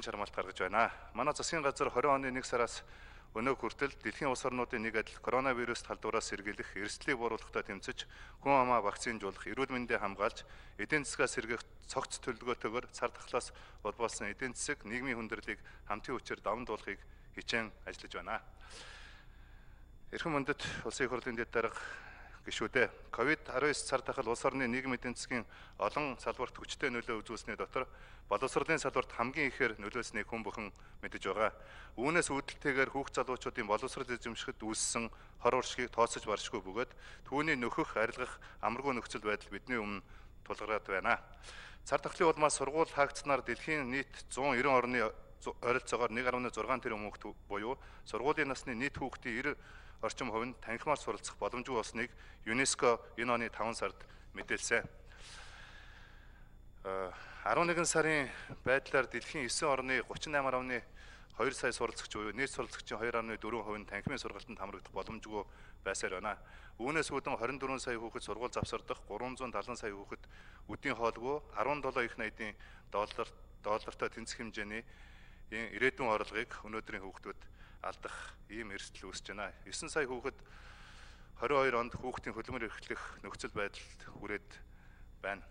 хөгжлийн чармаалт гаргаж байна. Манай засгийн газар 20 оны 1 сараас өнөө хүртэл дэлхийн улс орнуудын нэг адил коронавирус талдуураас сэргийлэх, эрсдлийг бууруулахтай тэмцэж, хүн амаа вакцинжуулах, эрүүл мэндийг хамгаалж, эдийн засгаас сэргээх цогц төлөвлөгөөтэйгээр цар тахлаас улбуулсан эдийн засаг, нийгмийн хүндрэлийг хамтын хүчээр даван туулахыг хичээн ажиллаж байна. Эрхэм мөндөд улсын их хурлын дэд дарга гишүүдээ, COVID-19 цар тахал улс орны нийгмийн эдийн засгийн олон салбарт хүчтэй нөлөө үзүүлсний дотор боловсролын салбарт хамгийн ихээр нөлөөлснийг хүн бүхэн мэдэж байгаа. Үүнээс үүдэлтэйгээр хүүхд залуучуудын боловсрол эзэмшихэд үүссэн хор уршгийг тооцож баршгүй бөгөөд түүний нөхөх, арилгах амаргүй нөхцөл байдал бидний өмнө тулгараад байна. Цар тахлын улмаас сургууль хаагдсанаар дэлхийн нийт 190 орны ойролцоогоор 1.6 тэрбум хүүхэд буюу сургуулийн насны нийт хүүхдийн 90 орчим хувь нь танхимаар суралцах боломжгүй болсныг ЮНЕСКО энэ оны 5 сард мэдээлсэн. 11 сарын байдлаар дэлхийн 9 орны 38.2 сая суралцагч буюу нийт суралцагчийн 2.4% нь танхимын сургалтанд хамрагдах боломжгүй байсаар байна. Үүнээс үүдэн 24 сая хүүхэд сургууль завсардах, 370 сая хүүхэд үдийн хоолгүй, 17 их найдын доллартай тэнцэх хэмжээний ирээдүйн орлогыг өнөөдрийн хүүхдүүд алдах ийм эрсдэл үүсэж байна. 9 сая хүүхэд 22 онд хүүхдийн хөдөлмөр эрхлэх нөхцөл байдалд хүрээд байна.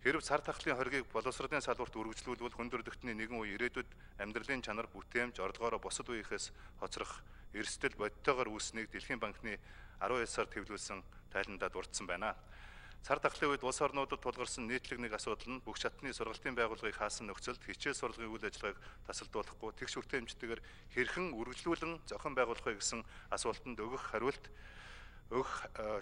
Хэрв цар тахлын хоргийг боловсролын салбарт үргэлжлүүлвэл хүн төрөлхтний нэгэн үе ирээдүйд амьдралын чанар бүтээмж орлогоороо бусад үеийнхээс хоцрох эрсдэл бодитойгоор үүснийг Дэлхийн банкны 12 сард хэвлүүлсэн тайландаа дурдсан байна. Цар тахлын үед улс орнуудад тулгарсан нийтлэг нэг асуудал нь бүх шатны сургалтын байгууллагыг хаасан нөхцөлд хичээл сурлагын үйл ажиллагааг тасалдуулахгүй тэгш хүртээмжтэйгээр хэрхэн үргэлжлүүлэн зохион байгуулах вэ гэсэн асуултанд өгөх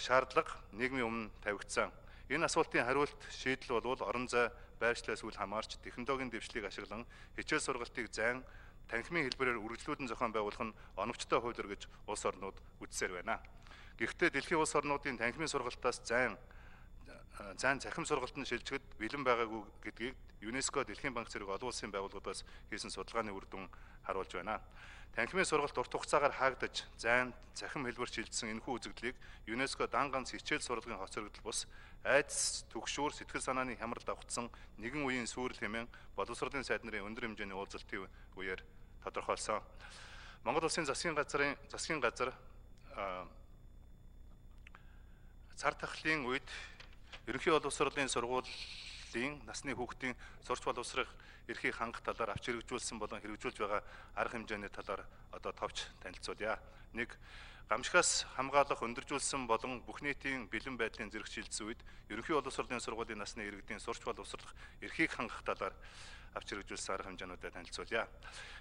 шаардлага нийгмийн өмнө тавигдсан. Энэ асуултын хариулт шийдэл бол орон зай, байршлаас үл хамаарч технологийн дэвшлиг ашиглан хичээл сургалтыг зайн танхимын хэлбэрээр үргэлжлүүлэн зохион байгуулах нь оновчтой хууль гэж улс орнууд үзсээр байна. Гэхдээ дэлхийн улс орнуудын танхимын сургалтаас зайн захим сургалтанд шилжихэд бэлэн байгаагүй гэдгийг ЮНЕСКО Дэлхийн банк зэрэг олон улсын байгууллагуудаас хийсэн судалгааны үр дүн харуулж байна. Танхимын сургалт урт хугацаагаар хаагдаж, зайн захим хэлбэр шилжсэн энэхүү үзэгдлийг ЮНЕСКО дан ганц хичээл сурлагын хоцрогдол бус айдас, түгшүүр, сэтгэл санааны хямралд давхцсан нэгэн үеийн сүрэл хэмээн боловсролын сайд нарын өндөр хэмжээний уулзалтын үеэр тодорхойлсон. Монгол улсын засгийн газар цар тахлын үед ерөнхий боловсролын сургуулийн насны хүүхдийн сурч боловсрох эрхийг хангах талаар авч хэрэгжүүлсэн болон хэрэгжүүлж байгаа арга хэмжээний талаар одоо товч танилцуулъя. 1. Гамшигаас хамгаалах өндөржүүлсэн болон бүх нийтийн бэлэн байдлын зэрэг шилжсэн үед ерөнхий боловсролын сургуулийн насны иргэдийн сурч боловсрох эрхийг хангах талаар авч хэрэгжүүлсэн арга хэмжээнүүдэд танилцуулъя.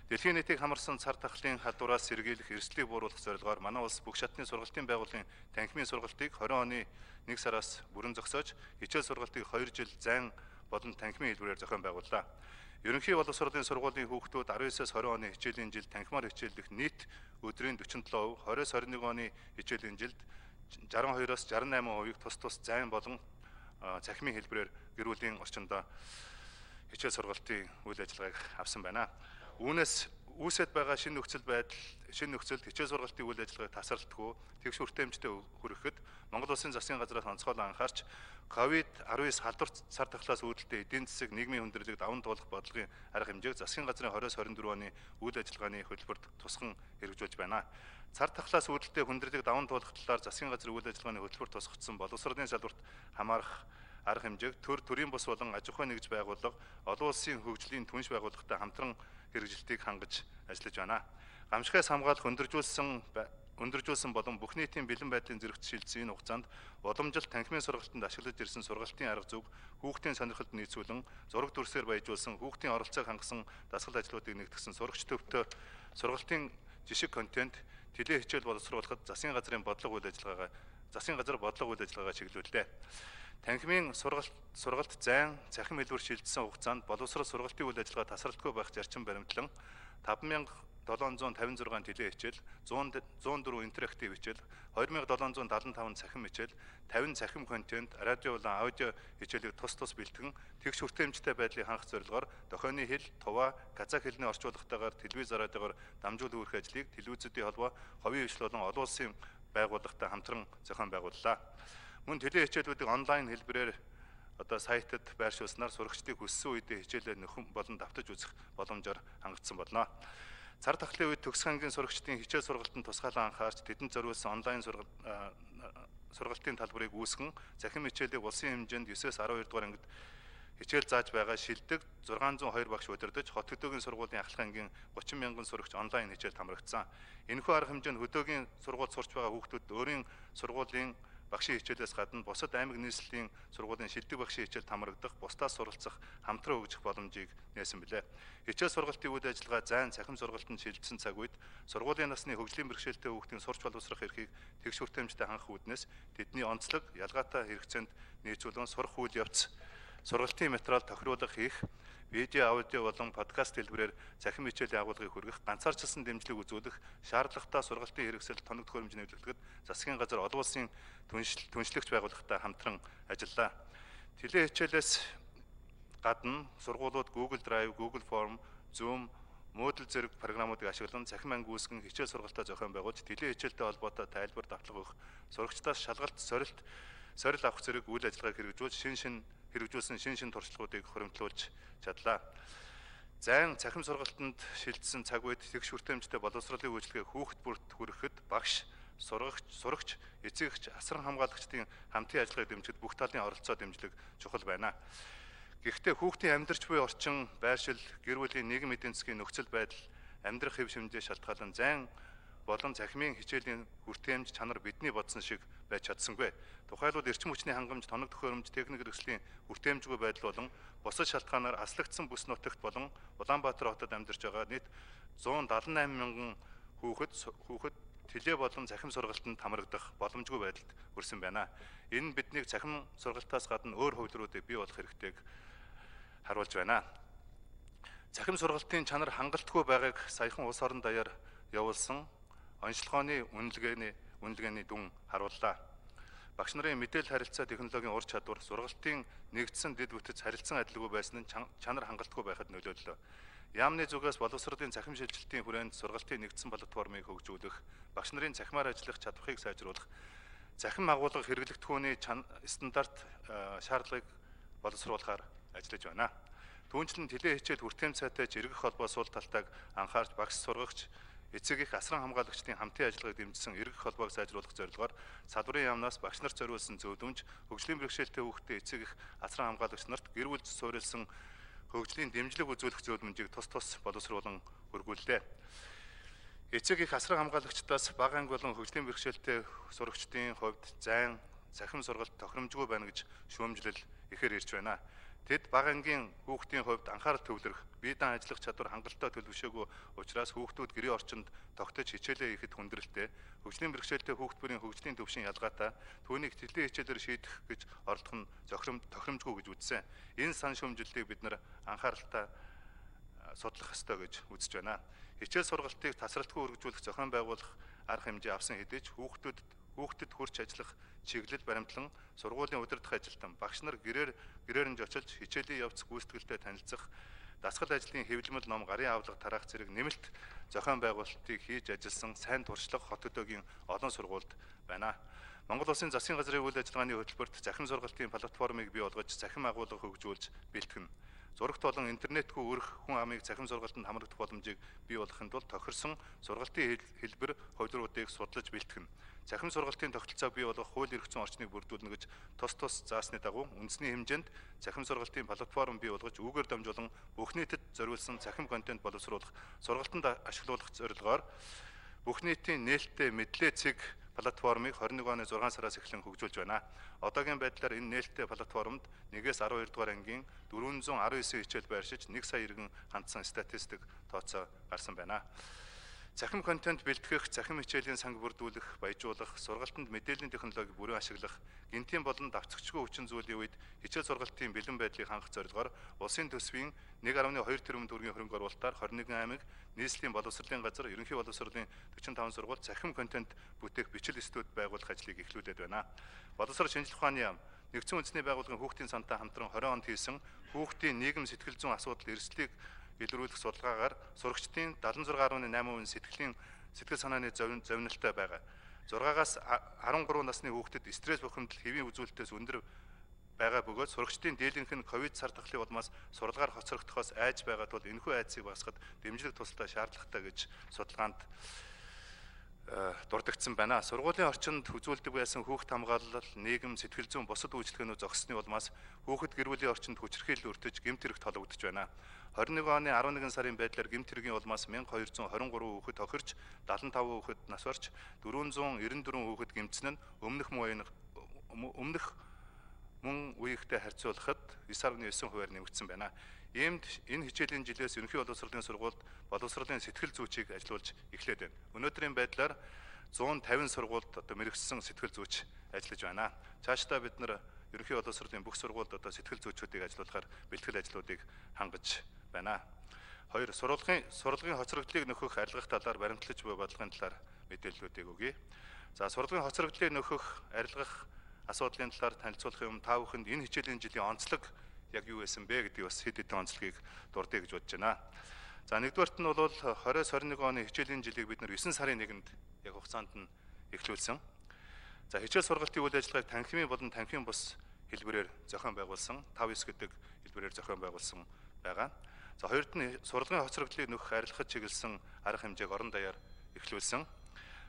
Дэлхийн нийтийг хамарсан цар тахлын халдвараас сэргийлэх, эрсдлийг бууруулах зорилгоор манай улс бүх шатны сургалтын байгууллагын танхимын сургалтыг 20 оны 1 сараас бүрэн зогсоож, хичээл сургалтыг 2 жил зайн болон танхимын хэлбэрээр зохион байгууллаа. Ерөнхий боловсролын сургуулийн хүүхдүүд 19-с 20 оны хичээлийн жилд танхимаар хичээллэх нийт өдрийн 47%, 20-с 21 оны хичээлийн жилд 62-оос 68%-ийг тус зайн болон цахимын хэлбэрээр гэр бүлийн орчиндөө хичээл сургалтын үйл ажиллагааг авсан байна. Үүнээс үүсэт байгаа шинэ нөхцөлд хичээл сургалтын үйл ажиллагааг тасралтгүй тэгш хүртээмжтэй хүрэхэд Монгол улсын засгийн газраас онцгойлон анхаарч COVID-19 халдвар цар тахлаас үүдэлтэй эдийн засаг, нийгмийн хүндрэлийг даван туулах бодлогын арга хэмжээг засгийн газрын 20-24 оны үйл ажиллагааны хөтөлбөрт тусган хэрэгжүүлж байна. Цар тахлаас үүдэлтэй хүндрэлийг даван туулах талаар засгийн газрын үйл ажиллагааны хөтөлбөрт тусгагдсан боловсролын салбарт хамаарах арга хэмжээг төрийн бус болон аж ахуйн нэгж байгууллага, олон улсын хөгжлийн түнш байгууллагатай хамтран хэрэгжилтийг хангаж ажиллаж байна. Гамшигаас хамгаалах өндөржүүлсэн болон бүх нийтийн бэлэн байдлын зэрэгт шилжсэн энэ хугацаанд уламжлалт танхимын сургалтанд ашиглаж ирсэн сургалтын арга зүйг хүүхдийн сонирхолд нийцүүлэн зураг дүрсээр баяжуулсан, хүүхдийн оролцоог хангасан дасгал ажлуудыг нэгтгэсэн сурагч төвтэй сургалтын жишг контент теле хичээл боловсруулахад засгийн газар бодлого үйл ажиллагаа чиглүүллээ. Танхимын сургалт зайн захим хэлбэр шилжсэн хугацаанд боловсрол сургалтын үйл ажиллагаа тасралтгүй байх зарчим баримтлан 5756 теле хичээл, 104 интерактив хичээл, 2775 цахим хичээл, 50 цахим контент, радио болон аудио хичээлийг тус бэлтгэн тэгш хүртээмжтэй байдлыг хангах зорилгоор дохионы хэл, туваа, казах хэлний орчуулгатайгаар телевиз радиогоор дамжуулах үүрэх ажлыг телевизүүдийн холбоо, ховын хвшил болон олон улсын байгууллагатай хамтран зохион байгууллаа. Мөн теле хичээлүүдийг онлайн хэлбэрээр одоо сайтад байршуулснаар сурагчдыг хүссэн үедээ хичээлээ нөхөн болон давтаж үзэх боломжоор хангагдсан болно. Цар тахлын үед төгсөх ангийн сурагчдын хичээл сургалтанд тусгаалan анхаарч тэдэнд зориулсан онлайн сургалтын талбарыг үүсгэн захин хичээлийг улсын хэмжээнд 9-с 12 дугаар ангид хичээл зааж байгаа шилдэг 602 багш удирдах хот хөдөөгийн сургуулийн ахлах ангийн 30 мянган сурагч онлайн хичээлд хамрагдсан. Энэхүү арга хэмжээнд хөдөөгийн сургуульд сурч байгаа хүүхдүүд өөрийн сургуулийн багшийн хичээлээс гадна бусад аймаг нийслэлийн сургуулийн шилдэг багшийн хичээлд хамрагдах, бусдаас суралцах, хамтран хөгжих боломжийг нээсэн билээ. Хичээл сургалтын үйл ажиллагаа зайн цахим сургалтанд шилжсэн цаг үед сургуулийн насны хөгжлийн бэрхшээлтэй хүүхдийн сурч боловсрох эрхийг тэгш хүртээмжтэй хангах үүднээс тэдний онцлог, ялгаатай хэрэгцээнд нийцүүлэн сурах үйл явц, сургалтын материал тохируулах хийх, видео, аудио болон подкаст хэлбэрээр захин хичээлийн агуулгыг хүргэх, ганцаарчилсан дэмжлэг үзүүлэх, шаардлагатай сургалтын хэрэгсэл тоног төхөөрөмж нэвтрүүлэхэд засгийн газар олон улсын түншлэгч байгууллагатай хамтран ажиллаа. Теле хичээлээс гадна сургуулиуд Google Drive, Google Form, Zoom, Moodle зэрэг програмуудыг ашиглан захин анги үүсгэн хичээл сургалтаа зохион байгуулж теле хичээлтэй холбоотой тайлбар давтлага өгөх, сурагчдаас шалгалт сорил авах зэрэг үйл ажиллагааг хэрэгжүүлсэн шин туршлагуудыг хуримтлуулж чадлаа. Зайн цахим сургалтанд шилжсэн цаг үед тэгш хүртээмжтэй боловсролын үйлчилгээ хүүхэд бүрт хүрэхэд багш, сурагч, эцэгч, асран хамгаалагчдын хамтын ажиллагааг дэмжихэд бүх талын оролцоо дэмжлэг чухал байна. Гэхдээ хүүхдийн амьдарч буй орчин, байршил, гэр бүлийн нийгэм эдийн засгийн нөхцөл байдал, амьдрах хэв шимжээ шалтгаалan зайн болон захимын хичээлийн хүртээмж чанар бидний бодсон шиг байж чадсангүй. Тухайлбал эрчим хүчний хангамж, тоног төхөөрөмж, техник хэрэгслийн хүртээмжгүй байдал болон бусад шалтгаанаар аслагдсан бүс нутагт болон Улаанбаатар хотод амьдарч байгаа нийт 178 мянган хүүхэд теле болон захим сургалтанд хамрагдах боломжгүй байдалд хүрсэн байна. Энэ биднийг захим сургалтаас гадна өөр хувилбаруудыг бий болох хэрэгтэйг харуулж байна. Захим сургалтын чанар хангалтгүй байгааг саяхан улс орон даяар явуулсан онцлогооны үнэлгээний дүн харууллаа. Багш нарын мэдээлэл харилцаа технологийн ур чадвар, сургалтын нэгдсэн дэд бүтэц харилцан адилгүй байсан нь чанар хангалтгүй байхад нөлөөллөө. Яамны зүгээс боловсролын захим шилжилтийн хүрээнд сургалтын нэгдсэн платформыг хөгжүүлэх, багш нарын цахимаар ажиллах чадварыг сайжруулах, захим агуулга хэрэглэгдэхүүний стандарт шаардлагыг боловсруулахаар ажиллаж байна. Түүнчлэн теле хичээл хүртээмж сайтай жиргэх холбоо сул талтайг анхаарч багш, сургагч, эцэг их асран хамгаалагчдын хамтын ажиллагааг дэмжсэн эргэх холбоог сайжруулах зорилгоор салбарын яамнаас багш нарт зориулсан зөвлөмж, хөгжлийн бэрхшээлтэй хүүхдэд эцэг их асран хамгаалагч нарт гэр бүл суурилсан хөгжлийн дэмжлэг үзүүлэх зөвлөмжийг тус боловсруулан өргүүллээ. Эцэг их асран хамгаалагчдаас бага анги болон хөгжлийн бэрхшээлтэй сурагчдын хувьд зайн, захим сургалт тохиромжгүй байна гэж шүүмжлэл ихээр ирж байна. Тэд бага ангийн хүүхдийн хувьд анхаарал төвлөрөх, бие даан ажиллах чадвар хангалттай төлөвшөөгүй учраас хүүхдүүд гэрийн орчинд тогтож хичээлээ хийхэд хүндрэлтэй, хөгжлийн бэрхшээлтэй хүүхд бүрийн хөгжлийн төвшин ялгаатай, түүнийг теле хичээлээр шийдэх гэж оролдох нь тохиромжгүй гэж үзсэн. Энэ сан шүүмжлэлийг бид нар анхааралтай судлах ёстой гэж үзэж байна. Хичээл сургалтыг тасралтгүй үргэлжлүүлэх зохион байгуулах арга хэмжээ авсан хэдий ч хүүхдэд хурц ажиллах чиглэл баримтлан сургуулийн удирдах ажилтан багш нар гэрээр нь очилж хичээлийн явц гүйцэтгэлтэй танилцах, дасгал ажлын хэвлэмэл ном, гарын авлага тараах зэрэг нэмэлт зохион байгуулалтыг хийж ажилласан сайн туршлага хот хөдөөгийн олон сургуульд байна. Монгол Улсын засгийн газрын үйл ажиллагааны хөтөлбөрт захим сургалтын платформыг бий болгож захим агуулга хөгжүүлж бэлтгэн. Зурагт болон интернетгүй өрх хүн амыг захим сургалтанд хамрагдах боломжийг бий болгохын тулд тохирсон сургалтын хэлбэр хувилбаруудыг судлаж бэлтгэн. Захим сургалтын тогтолцоог бий болгох хууль эрх зүйн орчныг бүрдүүлнэ гэж тус заасны дагуу үндэсний хэмжээнд захим сургалтын платформ бий болгож үүгээр дамжуулан бүх нийтэд зориулсан захим контент боловсруулах, сургалтанд ашиглуулах зорилгоор бүх нийтийн нээлттэй мэдлээ цэг платформыг 21 оны 6 сараас эхлэн хөгжүүлж байна. Одоогийн байдлаар энэ нээлттэй платформд 1-ээс 12 дугаар ангийн 419 хичээл байршиж 1 сая иргэн хандсан статистик тооцоо гарсан байна. Захим контент бэлтгэх, захим хичээлийн санг бүрдүүлэх, баяжуулах, сургалтанд мэдээллийн технологи бүрэн ашиглах, гинтийн болон давцагчгүй хүчин зүйлийн үед хичээл сургалтын бэлэн байдлыг хангах зорилгоор улсын төсвийн 1.2 тэрбум төгрөгийн хөрөнгө оруулалтаар 21 аймаг, нийслэлийн боловсролын газар, ерөнхий боловсролын 45 сургууль захим контент бүтээх бичил студ байгуулах ажлыг эхлүүлээд байна. Боловсрол шинжилх ухааны яам, нэгдсэн үндэсний байгууллагын хүүхдийн сантай хамтран 20 онд хийсэн хүүхдийн нийгэм сэтгэл зүйн асуудал эрсдлийг илрүүлэх судалгаагаар сурагчдын 76.8% сэтгэл санааны зовнилтой байгаа. 6-аас 13 насны хүүхдэд стресс бухимдал, хэвийн үзүүлэлтээс өндөр байгаа бөгөөд сурагчдын дийлэнх нь ковид сар тахлын улмаас суралгаар хоцрогдохоос айж байгаа тул энэхүү айцыг багасгахад дэмжлэг тусалтай шаардлагатай гэж судалгаанд дурдгдсан байна. Сургуулийн орчинд үзүүлдэг байсан хүүхд хамгаалал, нийгэм, сэтгэл зүйн бусад үйлчлэгээнүүд зогссны улмаас хүүхэд гэр бүлийн орчинд хүчирхийлэл өртөж гэмт хэрэг тологдож байна. 21 оны 11 сарын байдлаар гэмт хэргийн улмаас 1223 хүүхэд тохирч, 75 хүүхэд нас барч, 494 хүүхэд гэмтсэн нь өмнөх мөн үеигтэй харьцуулахад 9.9%-аар нэмэгдсэн байна. Иймд энэ хичээлийн жилээс ерөнхий боловсролын сургуульд боловсролын сэтгэл зүйчийг ажиллуулж эхлээд байна. Өнөөдрийн байдлаар 150 сургуульд мэрэгсэн сэтгэл зүйч ажиллаж байна. Цаашдаа бид нар ерөнхий боловсролын бүх сургуульд сэтгэл зүйчүүдийг ажиллуулахаар бэлтгэл ажлуудыг хангаж байна. 2. Сурлагын хоцрогдлыг нөхөх арилгах талаар баримтлаж буй бодлогын талаар мэдээллүүдийг өгье. За, сурлагын хоцрогдлыг нөхөх арилгах асуудлын талаар танилцуулах юм та бүхэнд энэ хичээлийн жилийн онцлог яг юу байсан бэ гэдгийг бас хэд хэдэн онцлогийг дурдъя гэж бодож байна. За, нэгдүгээрт нь бол 20-21 оны хичээлийн жилийг бид нар 9 сарын 1-нд яг хугацаанд нь эхлүүлсэн. За, хичээл сургалтын үйл ажиллагааг танхимын болон танхимын бус хэлбэрээр зохион байгуулсан, 5-9 гэдэг хэлбэрээр зохион байгуулсан байгаа. За, хоёрт нь сурлагын хоцрогдлыг нөхөх арилгахад чиглэсэн арга хэмжээг орон даяар эхлүүлсэн.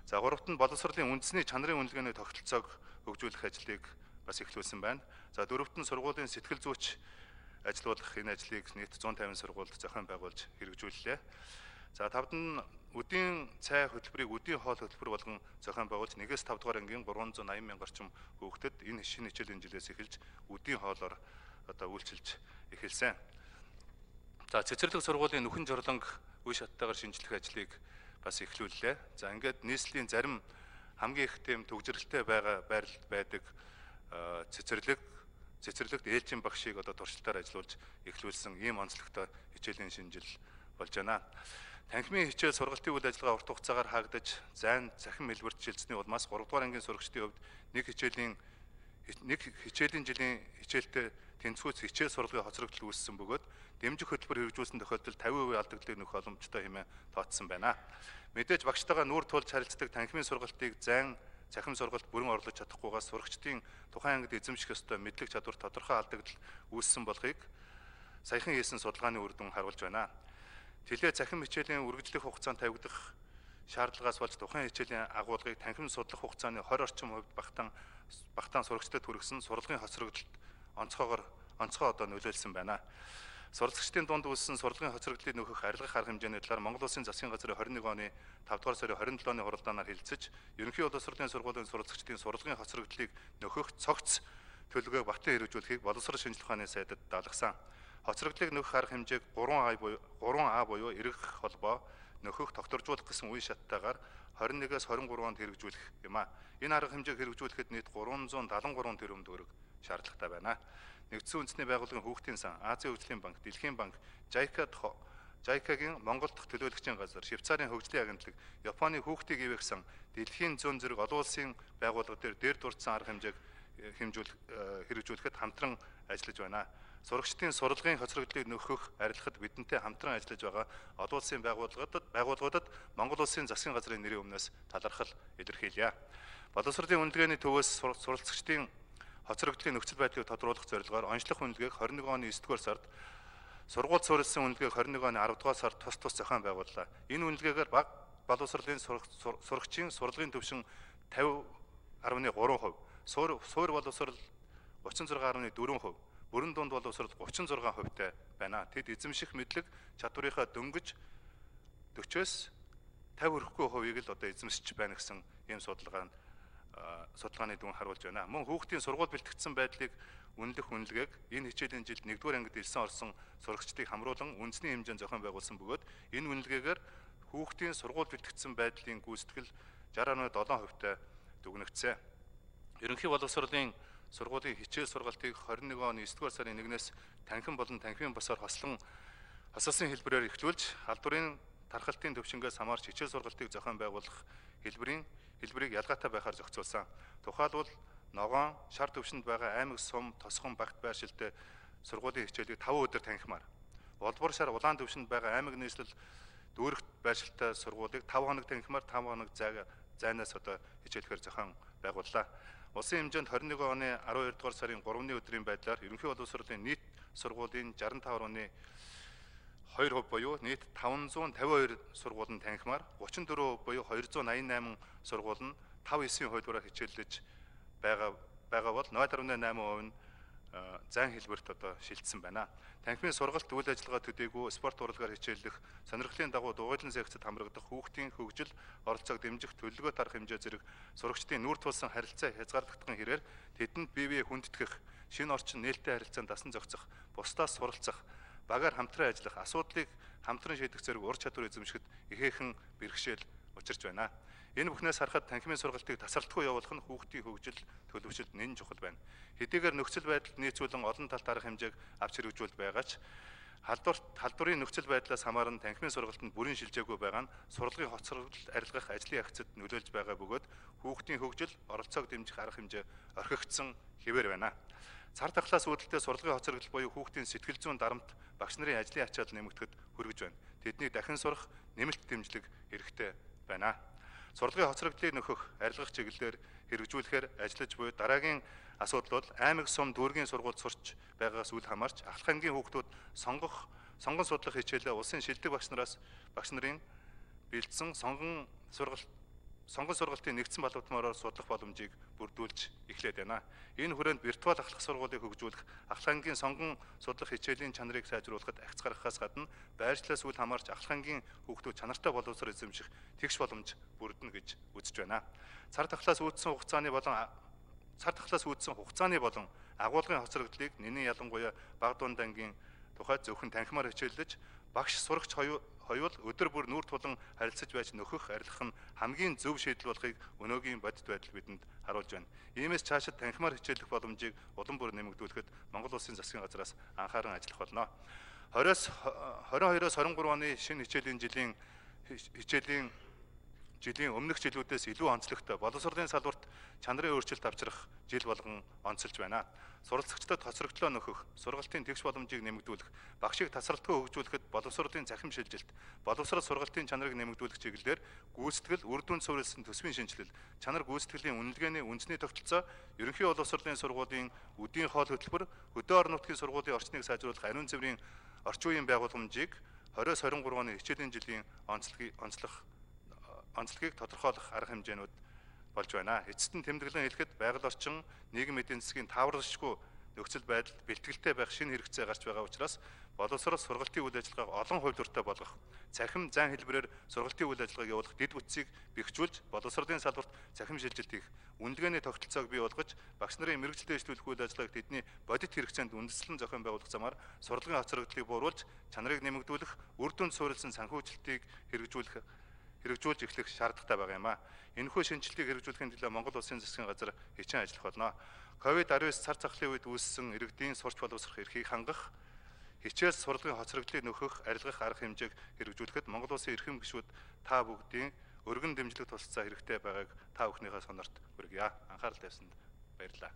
За, гуравт нь боловсролын үндэсний чанарын үнэлгээний тогтолцоог хөгжүүлэх ажлыг бас эхлүүлсэн байна. За, дөрөвт нь сургуулийн сэтгэл зүйч ажиллуулах энэ ажлыг нийт 150 сургуульд зохион байгуулж хэрэгжүүллээ. За, тавд нь өдийн цай хөтөлбөрийг өдийн хоол хөтөлбөр болгон зохион байгуулж 1-5 дугаар ангийн 380 мянга орчим хүүхдэд энэ шинэ хичээлийн жилээс эхэлж өдийн хоолоор үйлчилж эхэлсэн. За, цэцэрлэг сургуулийн нүхэн жорлонг үе шаттайгаар шинжлэх ажлыг бас эхлүүллээ. За, ингээд нийслэлийн зарим хамгийн их тэм төгжрэлтэй байрлалд байдаг цэцэрлэгт ээлжийн багшийг туршилтаар ажиллуулж эхлүүлсэн ийм онцлогтой хичээлийн шинжил болж байна. Танхимын хичээл сургалтын үйл ажиллагаа урт хугацаагаар хаагдаж, зайн цахим хэлбэрт шилжсэний улмаас 3 дугаар ангийн сурагчдын хувьд нэг хичээлийн жилийн хичээлтэй тэнцвүүц хичээл сургалтын хоцрогдол үүссэн бөгөөд дэмжих хөтөлбөр хэрэгжүүлсэн тохиолдолд 50% алдагдлыг нөхөх боломжтой хэмээн тооцсон байна. Мэдээж багштайгаа нүүр тулж харилцдаг танхимын сургалтыг зайн цахим сургалт бүрэн орлож чадахгүйгаас сурагчдын тухайн ангид эзэмших ёстой мэдлэг чадвар тодорхой алдагдал үүссэн болохыг саяхан хийсэн судалгааны үр дүн харуулж байна. Тэлээ цахим хичээлийн үргэлжлэх хугацаанд тавигдах шаардлагаас болж тухайн хичээлийн агуулгыг танхим судлах хугацааны 20 орчим хувьд багтаан сурагчдад хүргэсэн сурлагын хоцрогдолд онцгой нөлөөлсөн байна. Суралцагчдын дунд үүссэн сурлагын хоцрогдлыг нөхөх арилгах арга хэмжээний талаар Монгол Улсын засгийн газрын 21 оны 5 дугаар сарын 27-ны хуралдаанаар хэлэлцэж, ерөнхий боловсролын сургуулийн суралцагчдын сурлагын хоцрогдлыг нөхөх цогц төлөвлөгөөг батлан хэрэгжүүлэхийг боловсрол шинжилгээ ухааны сайдад даалгасан. Хоцрогдлыг нөхөх арга хэмжээг 3А буюу эргэх холбоо нөхөх тогтворжуулах гэсэн үе шаттайгаар 21-ээс 23 онд хэрэгжүүлэх юм а. Энэ арга хэмжээг хэрэгжүүлэхэд нийт 373 тэрбум төгрөг шаардлагатай байна. Нэгдсэн үндэсний байгууллагын хүүхдийн сан, Азийн хөгжлийн банк, Дэлхийн банк, JICA-гийн Монгол дахь төлөөлөгчийн газар, Швейцарын хөгжлийн агентлаг, Японы хүүхдийг ивэх сан, Дэлхийн зүүн зэрэг олон улсын байгууллага дээр дурдсан арга хэмжээг хэрэгжүүлэхэд хамтран ажиллаж байна. Сурагчдын сурлагын хоцрогдлыг нөхөх, арилгахад бидэнтэй хамтран ажиллаж байгаа олон улсын байгууллагуудад Монгол Улсын засгийн газрын нэрийн өмнөөс талархал илэрхийлье. Боловсролын үнэлгээний төвөөс суралцагчдын хоцрогдлын нөхцөл байдлыг тодруулах зорилгоор онцлог үнэлгээг 21 оны 9-р сард, сургууль суурилсан үнэлгээг 21 оны 10-р сард тус зохион байгууллаа. Энэ үнэлгээгээр бага боловсролын сурагчийн сурлагын түвшин 50.3%, суур боловсрол 36.4%, бүрэн дунд боловсрол 36%-тай байна. Тэд эзэмших мэдлэг чадварынхаа дөнгөж 40-с 50 хүрэхгүй хувийг л эзэмсэж байна гэсэн ийм судалгааны дүн харуулж байна. Мөн хүүхдийн сургууль бэлтгэгдсэн байдлыг үнэлэх үнэлгээг энэ хичээлийн жилд 1-р ангид элсэн орсон сурагчдыг хамруулан үндэсний хэмжээнд зохион байгуулсан бөгөөд энэ үнэлгээгээр хүүхдийн сургууль бэлтгэгдсэн байдлын гүйцэтгэл 60.7%-тай дүгнэгдсэн. Ерөнхий боловсролын сургуулийн хичээл сургалтыг 21 оны 9-р сарын 1-ээс танхим болон танхимын босоор хослсон хэлбэрээр эхлүүлж, халдварын тархалтын төвшингээс хамаарч хичээл сургалтыг зохион байгуулах хэлбэрийг ялгаатай байхаар зохицуулсан. Тухайлбал ногоон, шар төвшөнд байгаа аймаг сум, тосгон, багт байршилтай сургуулийн хичээлийг 5 өдөр танхимаар, улбар шар улаан төвшөнд байгаа аймаг нийслэл дүүрэгт байршилтай сургуулийг 5 хоног танхимаар 5 хоног зайнаас хичээлэхээр зохион байгууллаа. Улсын хэмжээнд 21 оны 12 дугаар сарын 3-ны өдрийн байдлаар ерөнхий боловсролын нийт сургуулийн 65.2% буюу нийт 552 сургууль нь танхимаар 34% буюу 288 сургууль нь 5-9 хувилбараар хичээллэж байгаа бол 0.8% нь зан хэлбэрт одоо шилжсэн байна. Танхимын сургалт үйл ажиллагаа төдийгүй спорт урлагаар хичээллэх, сонирхлын дагуу дугуйлан секцэд хамрагдах хүүхдийн хөгжил, оролцоог дэмжих, төлөвлөгөө тарах хэмжээ зэрэг сурагчдын нүүр тулсан харилцаа хязгаарлагдсан хэрээр тэдэнд бие биеэ хүндэтгэх, шинэ орчин нээлттэй харилцаанд дасан зохицох, бусдаас суралцах, багаар хамтран ажиллах, асуудлыг хамтран шийдэх зэрэг ур чадвар эзэмшихэд ихээхэн бэрхшээл учирч байна. Энэ бүхнээс харахад танхимын сургалтыг тасралтгүй явуулах нь хүүхдийн хөгжил төлөвшөлд нэн чухал байна. Хэдийгээр нөхцөл байдалд нийцүүлэн олон талт арга хэмжээг авч хэрэгжүүлж байгаа ч халдварын нөхцөл байдлаас хамааран танхимын сургалтанд бүрэн шилжээгүй байгаа нь сурлагын хоцрогдол арилгах ажлын агцад нөлөөлж байгаа бөгөөд хүүхдийн хөгжил, оролцоог дэмжих арга хэмжээ орхигдсон хэвээр байна. Цар тахлаас үүдэлтэй сурлагын хоцрогдол буюу хүүхдийн сэтгэл зүйн дарамт багш нарын ажлын ачаал нэмэгдэхэд хүргэж байна. Тэднийг дахин сурах нэмэлт дэмжлэг хэрэгтэй байна. Сурлагын хоцрогдлыг нөхөх, арилгах чиглэлээр хэрэгжүүлэхээр ажиллаж буй дараагийн асуудал бол аймаг сум дүүргийн сургуульд сурч байгаагаас үл хамаарч ахлах ангийн хүүхдүүд сонгон судлах хичээлээ улсын шилдэг багш нарын бэлдсэн сонгон сургалтын нэгдсэн балбатмаараар судлах боломжийг бүрдүүлж эхлээд байна. Энэ хүрээнд виртуал ахлах сургуулийг хөгжүүлэх, ахлах ангийн сонгон судлах хичээлийн чанарыг сайжруулахад агц гаргахаас гадна байршлаас үл хамаарч ахлах ангийн хүүхдүүд чанартай боловсрол эзэмших тэгш боломж бүрдэнэ гэж үзэж байна. Цар тахлаас үүдсэн хугацааны болон агуулгын хоцрогдлыг нэнийн ялангуяа бага дунд ангийн тухайд зөвхөн танхимаар хичээллэж багш сурагч хоёул өдөр бүр нүүр тулан харилцаж байж нөхөх арилгах нь хамгийн зөв шийдэл болохыг өнөөгийн бодит байдал бидэнд харуулж байна. Иймээс цаашид танхимаар хичээллэх боломжийг улам бүр нэмэгдүүлэхэд Монгол Улсын засгийн газраас анхааран ажиллах болно. 22-оос 23 оны шинэ хичээлийн өмнөх жилүүдээс илүү онцлогтой боловсролын салбарт чанарын өөрчлөлт авчрах жил болгон онцолж байна. Суралцагчдад хоцрогдлоо нөхөх, сургалтын тэгш боломжийг нэмэгдүүлэх, багшийг тасралтгүй хөгжүүлэхэд боловсролын захим шилжилт, боловсрол сургалтын чанарыг нэмэгдүүлэх чиглэлээр гүйцэтгэл, үр дүнд суурилсан төсвийн шинжилэл, чанар гүйцэтгэлийн үнэлгээний үндэсний тогтолцоо, ерөнхий боловсролын сургуулийн үдийн хоол хөтөлбөр, хөдөө орон нутгийн сургуулийн орчныг сайжруулах ариун цэврийн орчин үеийн байгууламжийг 20-23 оны хичээлийн жилийн онцлогийг тодорхойлох арга хэмжээнүүд болж байна. Эцэст нь тэмдэглэн хэлэхэд байгаль орчин, нийгэм эдийн засгийн тааваршгүй нөхцөл байдалд бэлтгэлтэй байх шинэ хэрэгцээ гарч байгаа учраас боловсрол сургалтын үйл ажиллагааг олон хувилбартай болгох, цахим зан хэлбэрээр сургалтын үйл ажиллагааг явуулах дэд бүтцийг бэхжүүлж, боловсролын салбарт цахим шилжилт хийх, үнэлгээний тогтолцоог бий болгож, багш нарын мэрэгчлээ дэвшлүүлэх үйл ажиллагааг тэдний бодит хэрэгцээнд үндэслэн зохион байгуулах замаар сурлагын хоцрогдлыг бууруулж, чанарыг нэмэгдүүлэх, үр дүнд суурилсан санхүүжилтийг хэрэгжүүлж эхлэх шаардлагатай байгаа юм а. Энэхүү шинжилгээг хэрэгжүүлэхийн төлөө Монгол Улсын засгийн газар хичээн ажиллах болно. COVID-19 цар тахлын үед үүссэн иргэдийн сурч боловсрох эрхийг хангах, хичээл сурлагын хоцрогдлыг нөхөх, арилгах арга хэмжээг хэрэгжүүлэхэд Монгол Улсын эрхэм гишүүд та бүгдийн өргөн дэмжлэг тусалцаа хэрэгтэй байгааг та бүхнийхээ сонорт хүргье. Анхаарал тавьсанд баярлалаа.